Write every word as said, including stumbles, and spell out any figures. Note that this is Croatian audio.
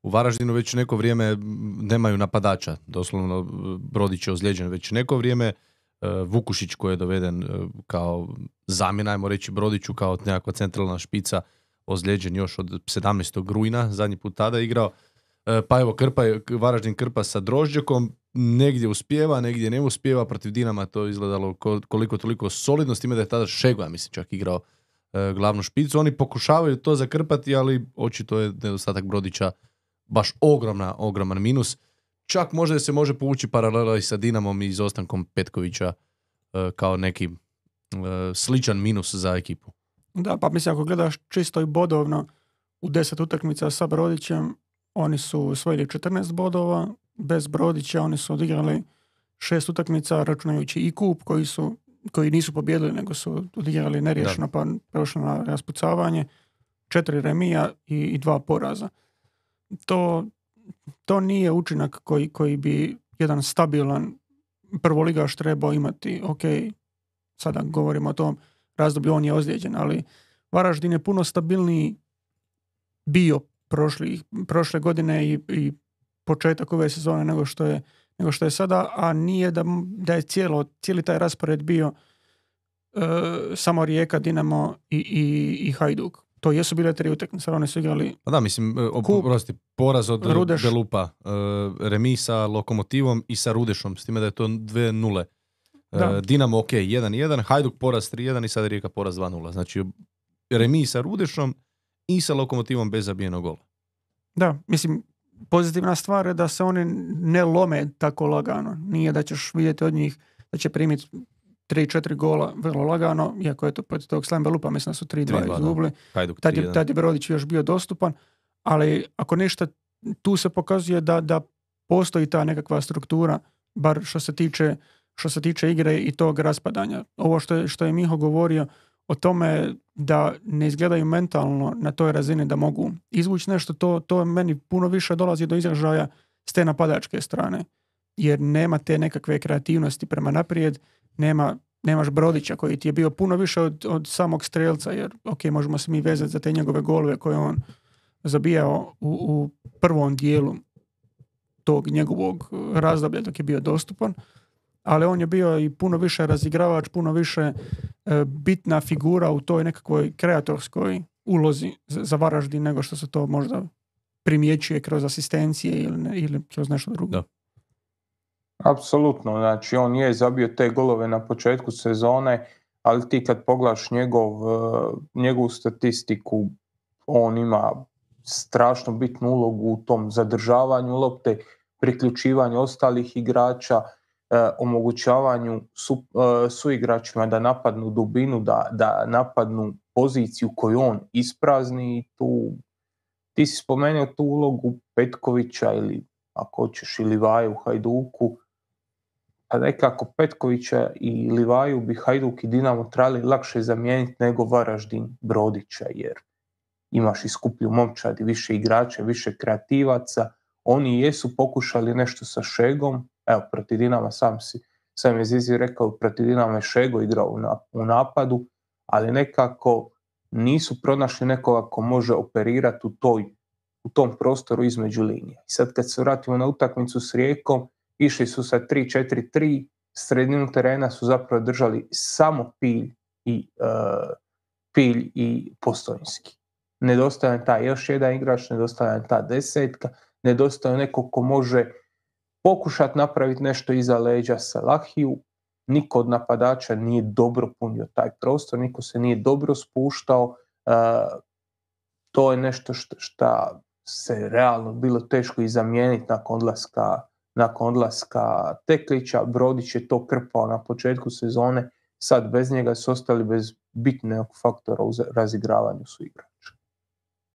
u Varaždinu već neko vrijeme nemaju napadača. Doslovno Brodić je ozlijeđen već neko vrijeme. Vukušić koji je doveden kao zamjena, ajmo reći Brodiću, kao nekakva centralna špica, ozlijeđen još od sedamnaestog rujna, zadnji put tada igrao. Pa evo, Krpa je, Varaždin Krpa sa Drožđekom, negdje uspijeva, negdje ne uspijeva, protiv Dinama to izgledalo koliko toliko solidno, s time da je tada Šego, ja mislim, čak igrao e, glavnu špicu. Oni pokušavaju to zakrpati, ali očito je nedostatak Brodića baš ogromna, ogroman minus. Čak možda se može povući paralela i sa Dinamom i izostankom Petkovića e, kao neki e, sličan minus za ekipu. Da, pa mislim, ako gledaš čisto i bodovno u deset utakmica sa Brodićem, oni su osvojili četrnaest bodova, bez Brodića oni su odigrali šest utakmica, računajući i kup koji su koji nisu pobjedili, nego su odigrali neriješeno, pa prošli na raspucavanje, četiri remija i, i dva poraza. To, to nije učinak koji, koji bi jedan stabilan prvoligaš trebao imati. Ok, sada govorimo o tom razdoblju, on je ozlijeđen, ali Varaždin je puno stabilniji bio prošli, prošle godine i, i početak ove sezone nego što je, nego što je sada, a nije da, da je cijelo, cijeli taj raspored bio uh, samo Rijeka, Dinamo i, i, i Hajduk. To jesu bile tri utakmice, oni su igrali pa da, mislim, Kup, prosti, poraz od Rudeš, Belupa, uh, remi sa Lokomotivom i sa Rudešom, s time da je to dve nule. Uh, Dinamo ok, jedan jedan, Hajduk poraz tri jedan i sada Rijeka poraz dva nula. Znači, remi sa Rudešom i sa Lokomotivom bez zabijenog gola. Da, mislim, pozitivna stvar je da se oni ne lome tako lagano. Nije da ćeš vidjeti od njih da će primiti tri četiri gola vrlo lagano, iako je to protiv tog Slam Belupa, mislim da su tri dva izgubili. Tad je, tad je Brodić još bio dostupan, ali ako ništa, tu se pokazuje da, da postoji ta nekakva struktura, bar što se tiče, što se tiče igre i tog raspadanja. Ovo što je, što je Miho govorio o tome da ne izgledaju mentalno na toj razini da mogu izvući nešto, to, to meni puno više dolazi do izražaja s te napadačke strane. Jer nema te nekakve kreativnosti prema naprijed, nema, nemaš Brodića koji ti je bio puno više od, od samog strelca, jer ok, možemo se mi vezati za te njegove golove koje on zabijao u, u prvom dijelu tog njegovog razdoblja dok je bio dostupan, ali on je bio i puno više razigravač, puno više e, bitna figura u toj nekakvoj kreatorskoj ulozi za, za Varaždin nego što se to možda primjećuje kroz asistencije ili, ne, ili kroz nešto drugo. Da. Apsolutno, znači on je zabio te golove na početku sezone, ali ti kad pogledaš njegov, njegovu statistiku, on ima strašno bitnu ulogu u tom zadržavanju lopte, priključivanju ostalih igrača, eh, omogućavanju su, eh, suigračima da napadnu dubinu, da, da napadnu poziciju koju on isprazni. Tu, ti si spomenuo tu ulogu Petkovića ili ako hoćeš i Livaju u Hajduku, a nekako Petkovića i Livaju bi Hajduk i Dinamo trebali lakše zamijeniti nego Varaždin Brodića, jer imaš i skuplju momčad i više igrača, više kreativaca. Oni jesu pokušali nešto sa Šegom, evo protiv Dinama sam si sam je Zizi rekao, protiv Dinama je Šego igrao u napadu, ali nekako nisu pronašli nekoga ko može operirati u toj u tom prostoru između linija. I sad kad se vratimo na utakmicu s Rijekom, išli su sa tri četiri tri, sredinu terena su zapravo držali samo Pilj i, uh, Pilj i Postojnski. Nedostaje taj još jedan igrač, nedostaje ta desetka, nedostaje neko ko može pokušati napraviti nešto iza leđa Salahiju. Niko od napadača nije dobro punio taj prostor, niko se nije dobro spuštao. Uh, to je nešto što se realno bilo teško i zamijeniti nakon odlaska, nakon odlaska Teklića. Brodić je to krpao na početku sezone, sad bez njega su ostali bez bitnog faktora u razigravanju su igrača.